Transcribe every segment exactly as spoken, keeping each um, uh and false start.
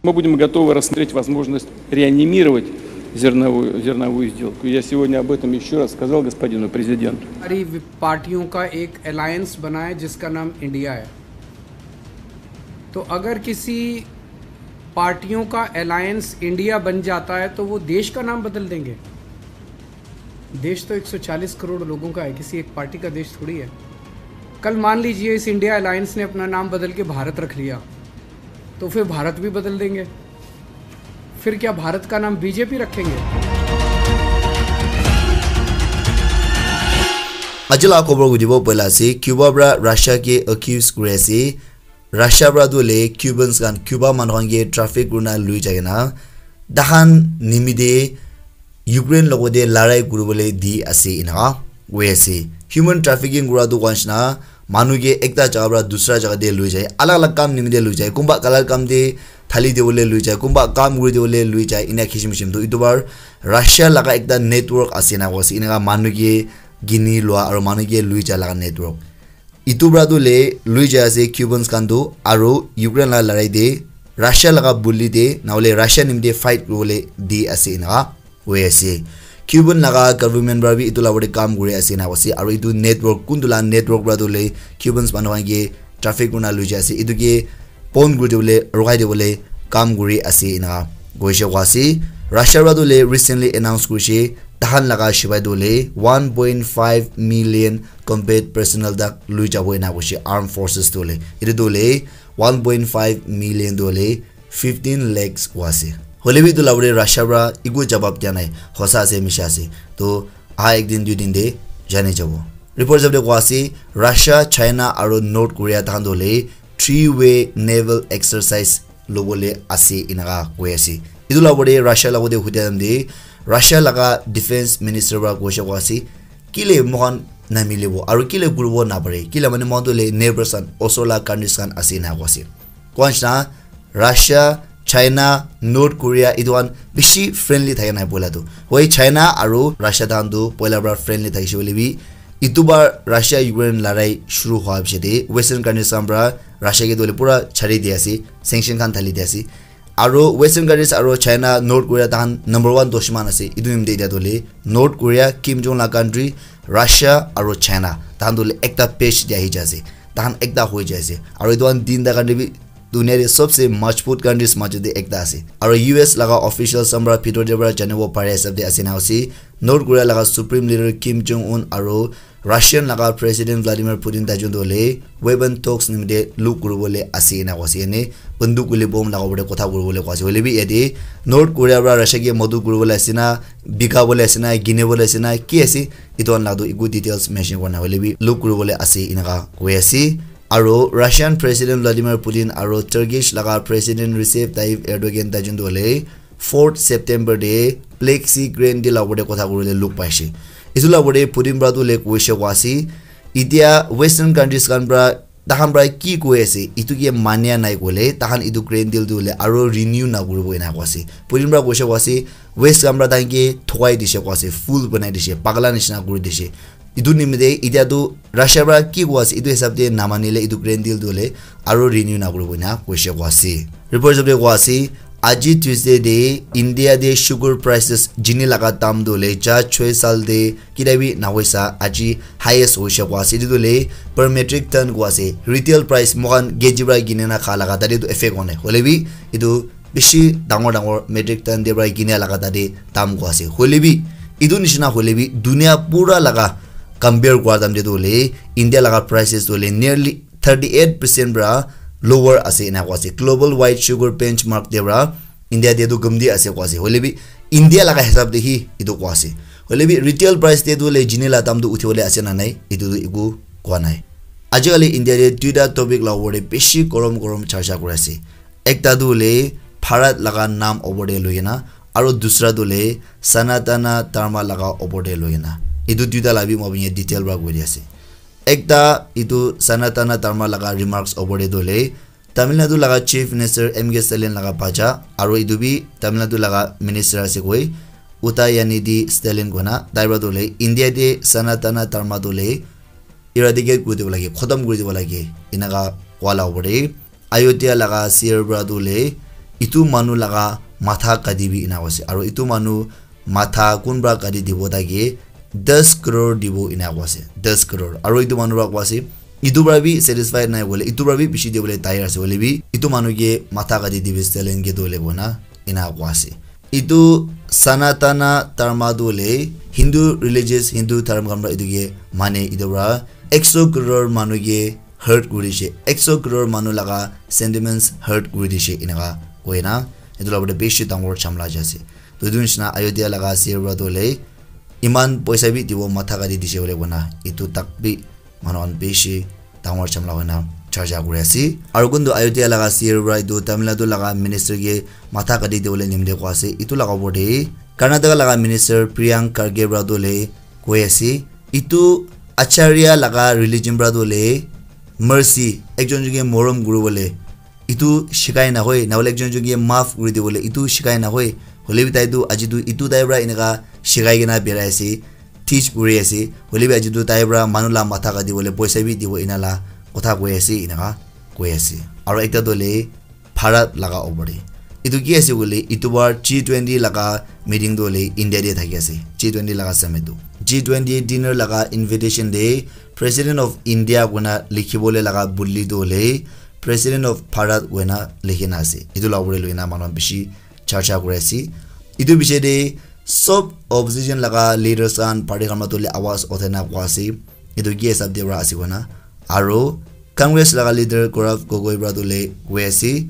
Мы будем готовы рассмотреть возможность реанимировать зерновую, зерновую сделку. Я сегодня об этом еще раз сказал господину президенту. सारी वि- पार्टियों का एक अलायंस बनाए जिसका नाम इंडिया है। तो अगर किसी पार्टियों का अलायंस इंडिया बन जाता है तो वो देश का नाम बदल देंगे। देश तो एक सौ चालीस करोड़ लोगों का है, किसी एक पार्टी का देश थोड़ी है। कल मान लीजिए इस इंडिया अलायंस ने अपना नाम बदल के भारत रख लिया, तो फिर भारत भी बदल देंगे। फिर क्या भारत का नाम बीजेपी रखेंगे? Aji la khobor hudibo poila ase, Cuba pra Russia ke accuse kuri ase. Russia pra tu le Cubans khan, Cuba manu khan ke traffic kurina lui jai kena, tahan nimide Ukraine logo de larai kuribole di ase inaka koi ase. Human trafficking kura tu koi nishina, manu ke ekta jaga pra dusra jaga de lui jai, alag alag kam nimide lui jai, kumba color kam de thali dibole lui jai, kumba kam kuri dibole lui jai, ina kishim kishim. To itu bar Russia laga ekta network ase na koi ase, inaka manu ke gini lua aro manu ke lui jai laga network. Itu pra tu le lui jai ase Cubans khan tu, aro Ukraine la larai de Russia laga bully de na hole Russia nimide fight kuribole di ase inaka koi ase. Cuban laga government pra bi itu la opor de kam kuri ase na koi ase, aro itu network kuntu la network pra tu le Cubans manu khan ke traffic kurina lui jai ase, itu ke pon kuri dibole, rokai dibole kam kuri ase inaka koishe koi ase. Russia pra tu le recently announce kurishe tahan laga shipai tu le one point five million combat personnel tak lui jabo ina koishe armed forces tu le. Itu tu le one point five million tu le fifteen lakhs koi ase. Hoile bi itu la opor de Russia pra eku jawab dia nai, hosa ase misha ase. To aha ek din dui din de jani jabo. Report hisab de koi ase, Russia, China aro North Korea tahan tu le three way naval exercise lobole ase inaka koi ase. Itu la opor de Russia la opor de hudia time de Russia laga defense minister pra koishe koi ase, kile moikhan namilibo aro kile kuribo napare, kile mane moikhan tu le neighbors khan, osor la countries khan ase inaka koi ase. Koi nishina Russia, China, North Korea itu khan bishi friendly thaka nai poila tu. Hoi China aro Russia tahan tu poila pra friendly thakishe hoile bi, itu bar Russia Ukraine larai shuru hua piche de Western countries khan pra Russia ke tu le pura chari di ase, sanction khan thali di ase. Aro Western countries aro China, North Korea tahan number one dushman ase. Itu nimite itya tu le North Korea, Kim Jong la country, Russia aro China tahan tu le ekta page de ahi jai ase. Tahan ekta hoi jai ase. Aro itu khan tinta country bi dunia de sobse majbut countries majo de ekta ase. Aro U S laga officials khan pra bhitor de pra janibo pare hisab de ase na ase, North Korea laga Supreme Leader Kim Jong Un aro Russian laga President Vladimir Putin taijun tu hoile weapon talks nimite look kuribole ase ena koise, ene banduk hoile bomb laga opor te kotha kuribole koise. Hoile bi yate North Korea para Russia ke madad kuribole ase na, bika bole ase na, gine bole ase na, ki ase, etu khan laga tu eku details mention kora nai, hoile bi look kuribole ase eneka koi ase. Aro Russian President Vladimir Putin aro Turkish laga President Recep Tayyip Erdogan taijun tu hoile fourth September te Black Sea Green Deal laga opor te kotha kuribole look paise. Etu laga opor te Putin para tu hoile koise koa ase, etia Western countries khan para, tahan para ki koi ase, etu ke mania nai koile, tahan etu Green Deal tu hoile aro renew na kuribo ena koa ase. Putin para koise koa ase, West khan para tahan ke thokai dise koa ase, fool banai dise, pagla nishina kuri dise. Etu nimite etia tu Russia para ki koa ase, etu hisab te namanile etu Green Deal tu hoile aro renew na kuribo ena koise koa ase. Report hisab te koa ase, aji Tuesday te India te sugar prices, jini laga dam tu hoile ja choi saal te kida bi na hoisa, aji highest hoise koa ase. Etu tu hoile per metric ton koa ase. Retail price moikhan K G para kine na kha laga tate tu effect hone. Hoile bi etu bishi dangor dangor metric ton te para kine laga tate dam koa ase. Hoile bi etu nishina hoile bi dunia pura laga compare kora time te tu hoile India laga prices tu hoile nearly thirty eight percent para lower ase ena koa ase. Global white sugar benchmark te para India te tu gumdi ase koa ase. Hoile bi India laga hisab te hi etu koa ase. Hoile bi retail price te tu hoile jini laga dam tu uthi bole ase na nai, etu tu eku koa nai. Aji kali India te duita topic laga opor te bishi gorom gorom charcha kuri ase. Ekta tu hoile Bharat laga naam opor te loi kena, aro dusra tu hoile Sanatana Dharma laga opor te loi kena. Etu duita laga bi moi apni ke detail para koi di ase. Ekta etu Sanatana Dharma laga remarks opor te tu hoile Tamil Nadu laga Chief Minister M K Stalin laga bacha, aro etu bi Tamil Nadu laga minister ase koi, Udayanithi Stalin koina, tai para tu hoile India te Sanatana Dharma tu hoile eradicate kuri dibo lage, khotom kuri dibo lage, eneka koa laga opor te. Ayodhya laga C R para tu hoile itu manu laga matha kati bi ena koise. Aro itu manu matha kun pra kati dibo, taike das crore dibo ena koise. Das crore. Aro itu manu pra koise, itu pra bi satisfied nai bole, itu pra bi bishi dibole tayar ase bole bi, itu manu ke matha kati dibi stalin ke dole kona ena koise. Itu Sanatana Dharma tu hoile Hindu religious, Hindu dharma khan pra itu ke mane, itu pra ekso crore manu ke hurt kuri dishe, ekso crore manu laga sentiments hurt kuri dishe, enaka koina itu la opor te bishi dangor jhamla jai ase. To itu nishina Ayodhya laga C E O pra tu hoile iman poisa bi dibo matha kati dishe bole kona itu tak bi manu khan bishi dangor jhamla hoina charcha kuri ase. Aro kuntu Ayodhya laga C E O pra itu Tamil Nadu laga minister ke matha kati dibole nimite koa ase. Itu laga opor te Karnataka laga minister Priyank Kharge pra tu hoile koi ase, itu Acharya laga religion pra tu hoile mercy, ekjon ekjon ke morom kuri bole, itu shikai na hoi, na hoile ekjon ekjon ke maaf kuri dibole, itu shikai na hoi. Hoile bi tai tu aji tu itu tai pra enaka shikai kena birai ase, teach kuri ase. Hoile bi aji tu tai pra manu la matha kati bole poisa bi dibo ena la kotha koi ase, enaka koi ase. Aro ekta tu hoile Bharat laga opor te. Itu ki ase koile, itu bar G twenty laga meeting tu hoile India te thaki ase. G twenty laga summit tu. G twenty dinner laga invitation te President of India koina likhi bole laga buli tu hoile President of Bharat koina likhi na ase. Itu la opor te loina manu khan bishi charcha kuri ase. Itu biche te sob opposition laga leaders khan party khan pra tu hoile awaz uthai na koa ase. Itu ki hisab te pra ase koina. Aro Congress laga leader Gaurav Gogoi pra tu hoile koi ase,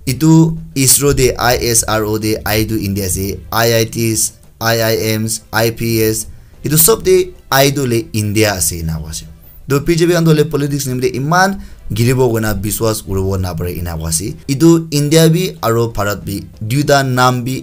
itu ISRO te, I S R O te I tu India ase, I I Ts, I I Ms, I P S, itu sob te I tu hoile India ase ena koa ase. To B J P khan tu hoile politics nimite iman giribo koina biswas kuribo napare ena koa ase. Itu India bi aro Bharat bi duita naam bi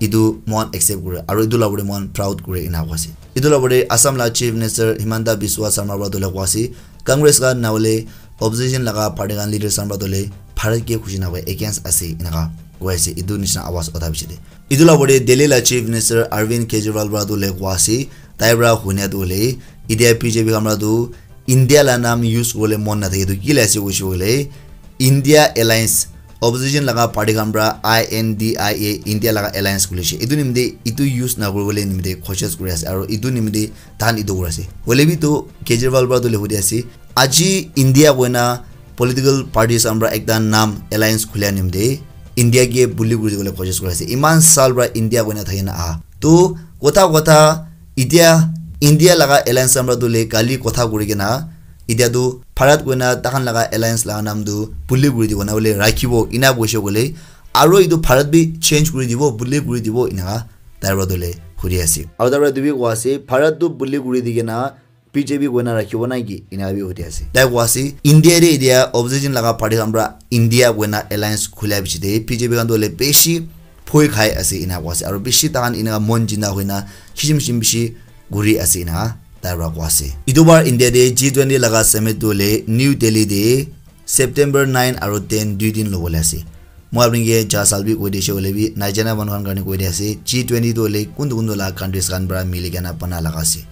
itu mohan accept kure, aro itu la opor te mohan proud kure ena koa ase. Itu la opor te Assam la Chief Minister Himanta Biswa Sarma pra tu hoile koa ase, Congress khan na hoile opposition laga party khan leaders khan pra tu hoile Bharat ke khushi na koi, against ase enaka koi ase. Itu nishina awaz utha biche te. Itu la opor te Delhi la Chief Minister Arvind Kejriwal pra tu hoile koa ase, tai pra hunia tu hoile, itia B J P khan pra tu India la naam use kuribole mon nathake tu ki la ase koishe koile India Alliance, opposition laga party khan pra I N D I A, India laga alliance khulishe. Etu nimite etu use nakuribole nimite koshish kuri ase aro etu nimite tahan etu kuri ase. Hoile bi tu Kejriwal pra tu hudi ase, aji India koina political parties khan pra ekta naam alliance khulia nimite India ke bully kuri dibole koshish kuri ase. Iman saal pra India koina thakina aha. Tu kotha kotha Etia India laga alliance khan pra tu le kali kotha kuri kena, etia tu Bharat koina takhan laga alliance laga naam tu bully kuri dibo na hoile rakhibo, ena koishe koile, aro etu Bharat bi change kuri dibo, bully kuri dibo, enaka tai pra tu le hudi ase. Aro tai pra etu bi koa ase, Bharat tu bully kuri di kena B J P koina rakhibo na ki, enaka bi hudi ase. Tai koa ase, India te etia opposition laga party khan pra India koina alliance khulia piche te B J P khan tu hoile bishi bhoi khai ase ena koa ase, aro bishi takhan ena mon jina hoina kishim kishim bishi guri ase ena tai pra koa ase. Etu bar India te G twenty laga summit tu hoile New Delhi te September nine aro ten dui din lobole ase. Moi apni ke ja sal bi koi dishe hoile bi, naijana manu khan karne koi di ase, G twenty tu hoile kuntu kuntu la countries khan pra mili kena bana laga ase.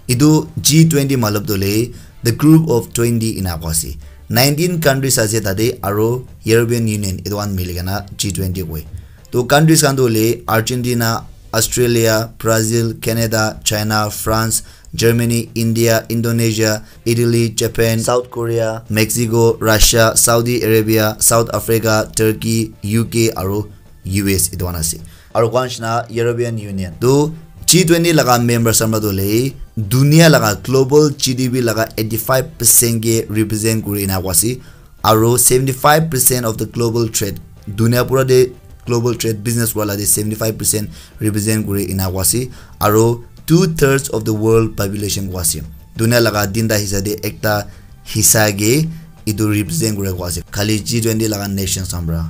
Etu G twenty matlab tu hoile the group of twenty ena koa ase. Nineteen countries ase tate aro European Union etu khan mili kena G twenty koi. To countries khan tu hoile Argentina, Australia, Brazil, Canada, China, France, Germany, India, Indonesia, Italy, Japan, South Korea, Mexico, Russia, Saudi Arabia, South Africa, Turkey, U K aro U S etu khan ase. Aro koa nishina European Union. To G twenty laga members khan pra tu hoile dunia laga global G D P laga eighty five percent ke represent kuri ena koa ase. Aro seventy five percent of the global trade, dunia pura te global trade business kura la te seventy five percent represent kuri ena koa ase. Aro two thirds of the world population koa ase. Dunia laga tinta hissa te ekta hissa ke etu represent kura koa ase. Khali G twenty laga nations khan pra.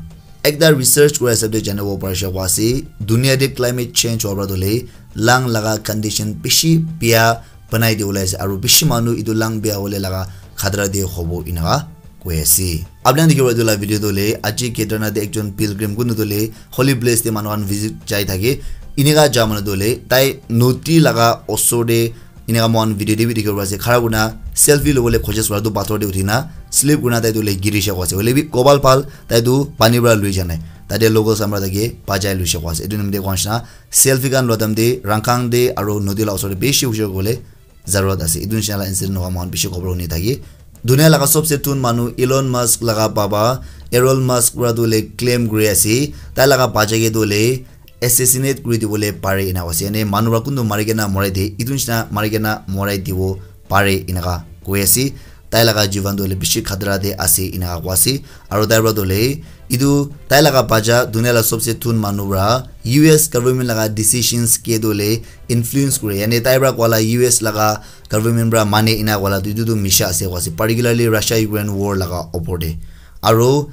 Ekta research kura hisab te janibo parishe koa ase, dunia te climate change howa pra tu hoile lung laga condition bishi bia banai dibole ase, aro bishi manu etu lung bia hole laga khatra te hobo enaka koi ase. Apni khan dikhibo etu la video tu hoile aji Kedarnath te ekjon pilgrim kuntu tu hoile holy place te manu khan visit jai thake, enaka ja manu tu hoile tai nodi laga osor te Eneka moikhan video te bi dikhibo pari ase, khara kurina selfie lobole koshish kura tu pathor te uthina slip kurina tai tu hoile girishe koa ase. Hoile bi kopal bhal tai tu pani para lui ja nai. tate locals khan para tate bachai luishe koa ase. Etu nimite koa nishina selfie khan lua time te rangkang te aru nodi la osor te bishi hushar kole zarurat ase. Etu nishina la incident hoa moikhan bishi khobor huni thaki. Dunia laga sobse thun manu Elon Musk laga baba Elon Musk para tu le claim kuri ase, tai laga bacha ke tu le assassinate kuri dibole pare ena koise. Yane manu para kuntu mari kena morai de, etu nishina mari kena morai dibo pare enaka koi ase. Tai laga jivan tu hoile bishi khatara te ase enaka koi ase. Aru tai para tu hoile etu tai laga bacha dunia la sobse thun manu para U S government laga decisions ke tu hoile influence kure. Yane tai para koa la U S laga government para mane ena koa la tu etu tu misha ase koi ase. Particularly Russia Ukraine war laga opor te. Aru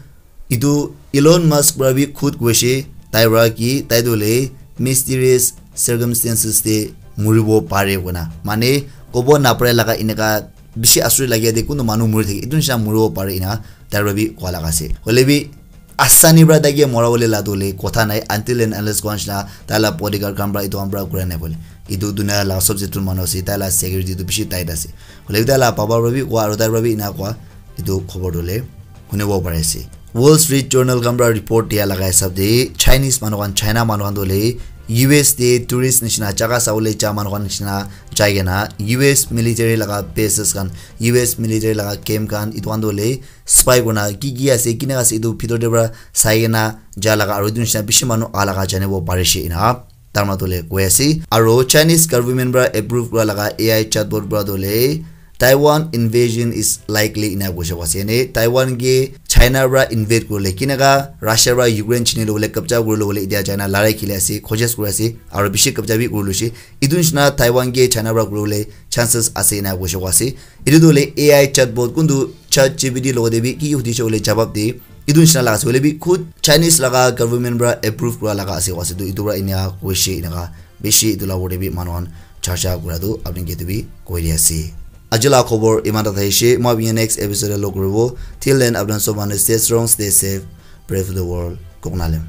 etu Elon Musk para bi khud koise tai para ki tai tu hoile mysterious circumstances te muribo pare koina. Mane kobo napare laga eneka bishi asuri lagia te kuntu manu muri thake. Etu nishina muribo pare ena tai para bi koa laga ase. Hoile bi asani para tai ke mora bole la tu hoile kotha nai until and unless koa nishina tai la bodyguard khan para etu khan para kura nai bole. Etu dunia la sobse thun manu ase, tai la security tu bishi tight ase. Hoile bi tai la baba para bi koa aru tai para bi ena koa etu khobor tu hoile hunibo pari ase. Wall Street Journal khan para report dia laga hisab te Chinese manu khan, China manu khan tu hoile U S te tourist nishina jaga sabole ja manu khan nishina jai kena U S military laga bases khan, U S military laga camp khan etu khan tu hoile spy kurina ki ki ase, kineka ase etu bhitor te para sai kena ja laga aru etu nishina bishi manu aha laga janibo parishe ena. Tarma tu hoile koi ase. Aru Chinese government para approve kura laga A I chatbot para tu hoile Taiwan invasion is likely ena koise koa ase. Yane Taiwan ke China para invade kurile kineka Russia para Ukraine chini lobole kabja kuri lobole etia China larai khili ase, khojis kuri ase, aru bishi kabja bi kuri loise. Etu nishina Taiwan ke China para kuribole chances ase ena koise koa ase. Etu tu hoile A I chatbot kuntu ChatGPT logote bi ki ki hudise hoile jawab de. Etu nishina laga ase hoile bi khud Chinese laga government para approve kura laga ase koa ase. Tu etu para enia koise eneka bishi etu la opor te bi manu khan charcha kura tu apni ke tu bi koi di ase. Aji la khobor iman ta thaishe. Moi apni next episode te log kuribo. Till then, apni khan sob manu stay strong, stay safe, pray for the world. Koknalem.